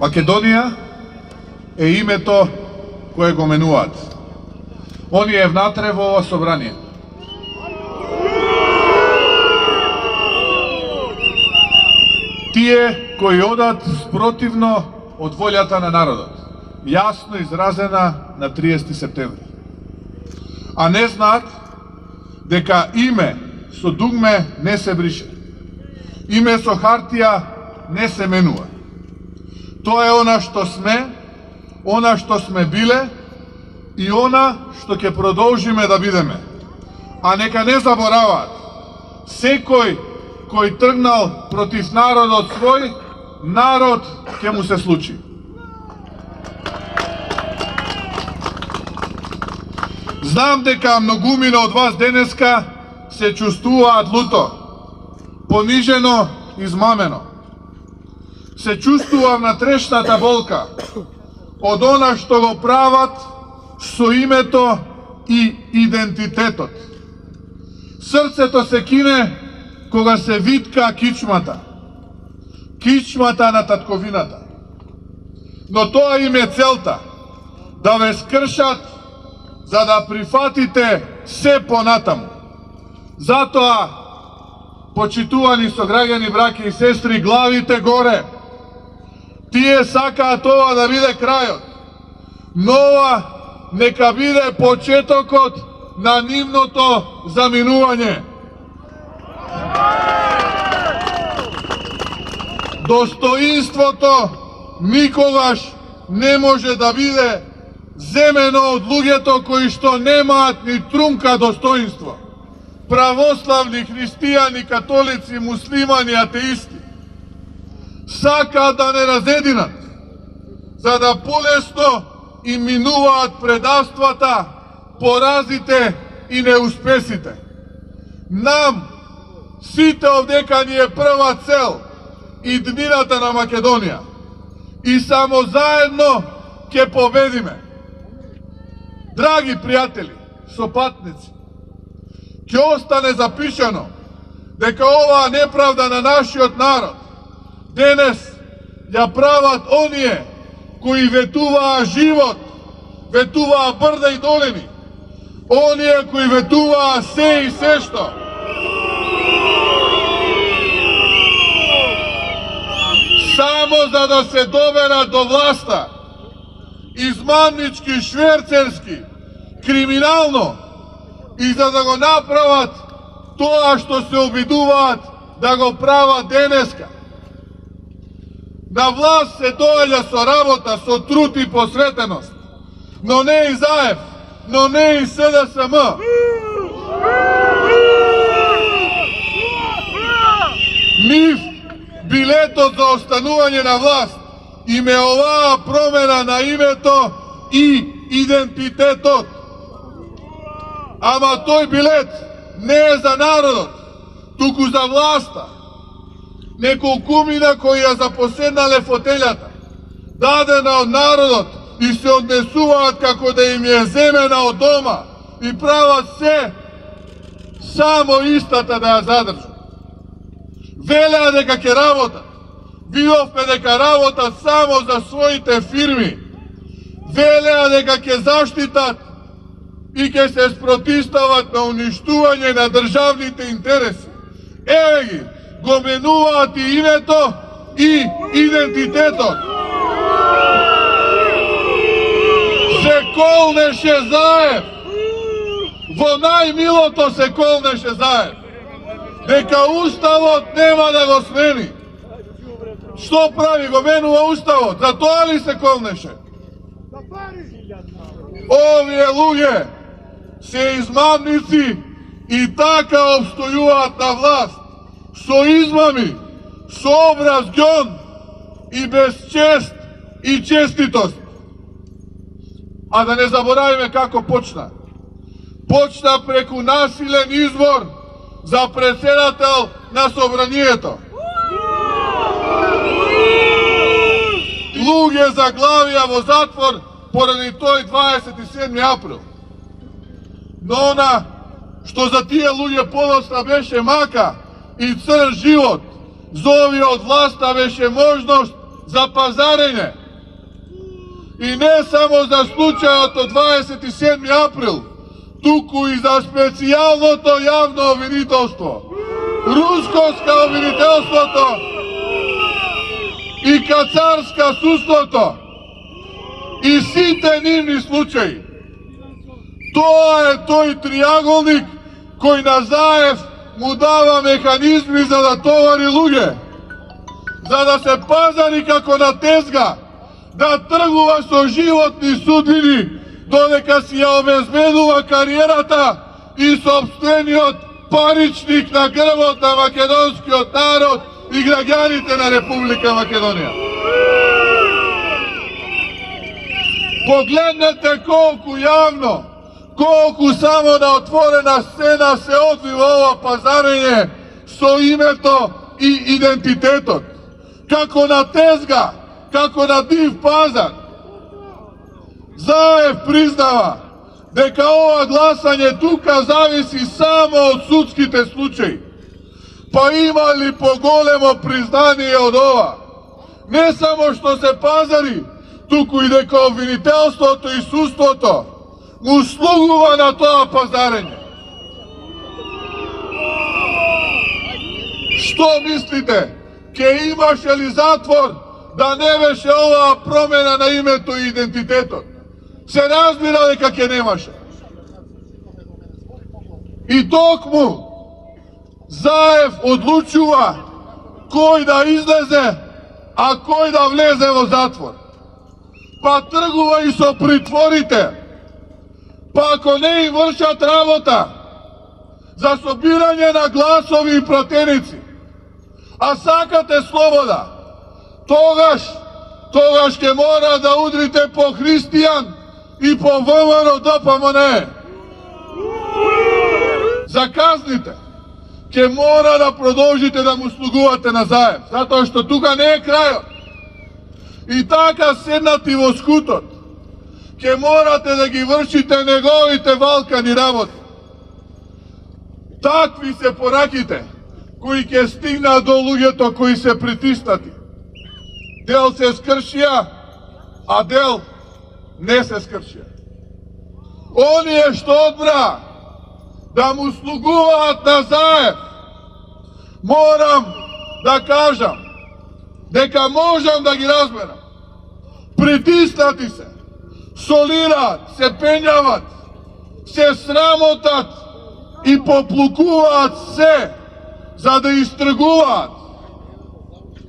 Македонија е името кое го менуваат. Оние внатре во ова собрание. Тие кои одат спротивно од волјата на народот, јасно изразена на 30 септември. А не знаат дека име со дугме не се брише. Име со хартија не се менува. Тоа е она што сме биле и она што ќе продолжиме да бидеме. А нека не забораваат, секој кој тргнал против народот свој, народ ќе му се случи. Знам дека многумина од вас денеска се чувствуваат луто, понижено, измамено. Се чувствувам на трешната болка од она што го прават со името и идентитетот. Срцето се кине кога се витка кичмата на татковината. Но тоа им е целта, да ве скршат за да прифатите се понатаму. Затоа, почитувани сограѓани, браќи и сестри, главите горе. Тие сакаат ова да биде крајот, но ова нека биде почетокот на нивното заминување. Достоинството никогаш не може да биде земено од луѓето кои што немаат ни трунка достоинство. Православни, христијани, католици, муслимани, атеисти сакаат да не разединат, за да полесно им минуваат предавствата, поразите и неуспесите. Нам, сите овдека ни е прва цел иднината на Македонија и само заедно ќе победиме. Драги пријатели, сопатници, ќе остане запишано дека оваа неправда на нашиот народ денес ја прават оние кои ветуваа живот, ветуваа брда и долини, оние кои ветуваа се и се што. Само за да се доберат до власта, измамнички, шверцерски, криминално, и за да го направат тоа што се обидуваат да го прават денеска. На власт се доаѓа со работа, со труд и посветеност, но не и ЗАЕВ, но не и СДСМ. Нив билетот за останување на власт им е оваа промена на името и идентитетот. Ама тој билет не е за народот, туку за власта. Неколкумина кои ја запоседнале фотелјата, дадена од народот и се однесуваат како да им е земена од дома и прават се само истата да ја задржат. Велеа дека ќе работат. Видовме дека работат само за своите фирми. Велеа дека ќе заштитат и ќе се спротистават на уништување на државните интереси. Еве ги, го менуваат и името и идентитетот. Се колнеше ЗАЕВ. Во најмилото се колнеше ЗАЕВ. Дека уставот нема да го смени. Што прави? Го менува уставот. За тоа ли се колнеше? Овие луѓе се измамници и така обстојуваат на власт. Со измами, со образ ѓон и без чест и честитост. А да не заборавиме како почна. Почна преку насилен избор за председател на собранието. Луѓе заглавија во затвор поради тој 27 април. Но она што за тие луѓе подоцна беше мака и црн живот, за овие од власта беше можност за пазарење. И не само за случајот од 27. април, туку и за специјалното јавно обвинителство, рускоска обвинителството и кацарска судството и сите нивни случаи. Тоа е тој триаголник кој на Заев му дава механизми за да товари луѓе, за да се пазари како на тезга, да тргува со животни судбини, додека си ја обезбедува кариерата и сопствениот паричник на грбот на македонскиот народ и граѓаните на Република Македонија. Погледнете колку јавно, колку само на отворена сцена се одвива ова пазарење со името и идентитетот. Како на тезга, како на див пазар. Заев признава дека ова гласање тука зависи само од судските случаи. Па има ли поголемо признание од ова? Не само што се пазари, туку и дека обвинителството и судството му слугува на тоа пазарење. Што мислите? Ке имаше ли затвор да не беше оваа промена на името и идентитетот? Се разбира дека ке немаше. И токму Заев одлучува кој да излезе, а кој да влезе во затвор. Па тргува и со притворите. Па ако не им вршат работа за собирање на гласови и пратеници, а сакате слобода, тогаш ќе мора да удрите по Христијан и по ВМРО ДПМНЕ. За казните ќе мора да продолжите да му слугувате на Заев, затоа што тука не е крајот. И така седнати во скутот, ќе морате да ги вршите неговите валкани работи. Такви се пораките кои ќе стигнат до луѓето кои се притиснати. Дел се скршија, а дел не се скршија. Оние што одбра да му слугуваат на Заев, морам да кажам дека можам да ги разберам. Притиснати се, солираат, се пењават, се срамотат и поплукуваат се за да истргуваат.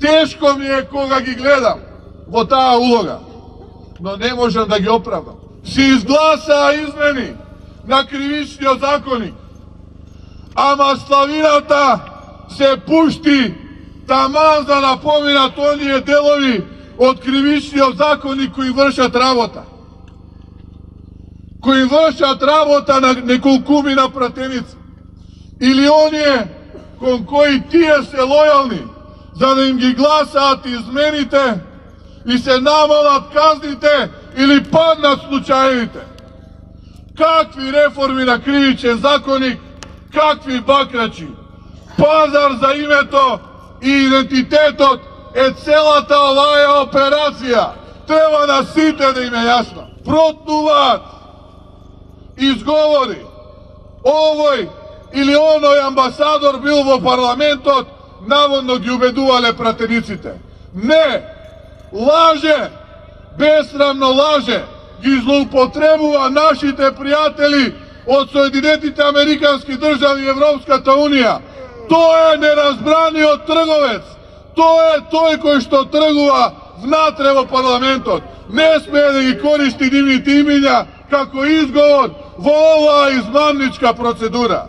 Тешко ми е кога ги гледам во таа улога, но не можам да ги оправдам. Си изгласаа измени на кривичниот законник, ама славината се пушти таман за да поминат оние делови од кривичниот законник кои вршат работа. Кои вршат работа на неколкумина пратеници. Или оние кон кои тие се лојални, за да им ги гласаат измените и се намалат казните или паднат случаевите. Какви реформи на кривичен законник, какви бакрачи. Пазар за името и идентитетот е целата оваа операција. Треба на сите да им е јасно. Протнуваат изговори. Овој или оној амбасадор бил во парламентот, наводно ги убедувале пратениците. Не! Лаже! Бесрамно лаже! Ги злоупотребува нашите пријатели од Соединетите Американски држави и Европската Унија. Тој е неразбраниот трговец. Тој е тој кој што тргува внатре во парламентот. Не смее да ги користи нивните имиња како изговор во оваа измамничка процедура.